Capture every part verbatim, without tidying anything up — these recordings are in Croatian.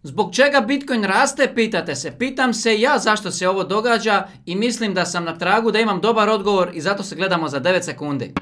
Zbog čega Bitcoin raste, pitate se. Pitam se ja zašto se ovo događa i mislim da sam na tragu da imam dobar odgovor i zato se gledamo za devet sekundi.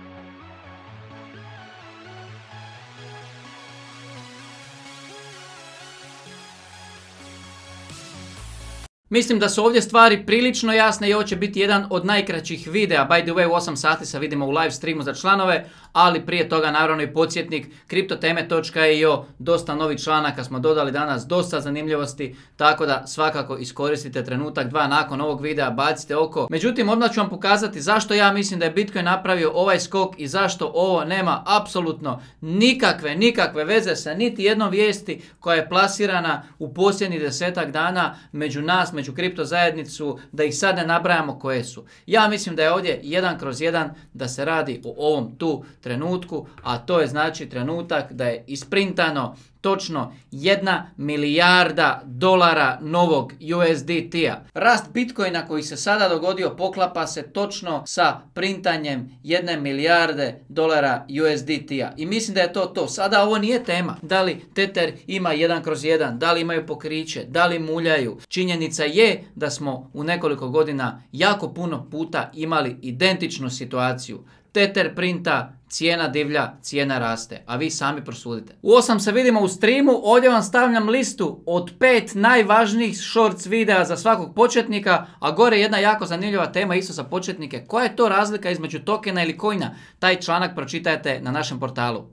Mislim da su ovdje stvari prilično jasne i ovo će biti jedan od najkraćih videa. By the way, u osam sati se vidimo u live streamu za članove, ali prije toga naravno i podsjetnik kriptoteme točka i o, dosta novih članaka smo dodali danas, dosta zanimljivosti, tako da svakako iskoristite trenutak dva nakon ovog videa, bacite oko. Međutim, odmah ću vam pokazati zašto ja mislim da je Bitcoin napravio ovaj skok i zašto ovo nema apsolutno nikakve, nikakve veze sa niti jednom vijesti koja je plasirana u posljednjih desetak dana među nas, među kripto zajednicu, da ih sad ne nabrajamo koje su. Ja mislim da je ovdje jedan kroz jedan da se radi o ovom tu trenutku, a to je znači trenutak da je isprintano točno jedna milijarda dolara novog U S D T-a. Rast Bitcoina koji se sada dogodio poklapa se točno sa printanjem jedne milijarde dolara U S D T-a. I mislim da je to to. Sada ovo nije tema. Da li Tether ima jedan kroz jedan, da li imaju pokriće, da li muljaju. Činjenica je da smo u nekoliko godina jako puno puta imali identičnu situaciju. Tether printa, cijena divlja, cijena raste, a vi sami prosudite. U osam se vidimo u streamu, ovdje vam stavljam listu od pet najvažnijih shorts videa za svakog početnika, a gore jedna jako zanimljiva tema isto za početnike. Koja je to razlika između tokena ili coina? Taj članak pročitajte na našem portalu.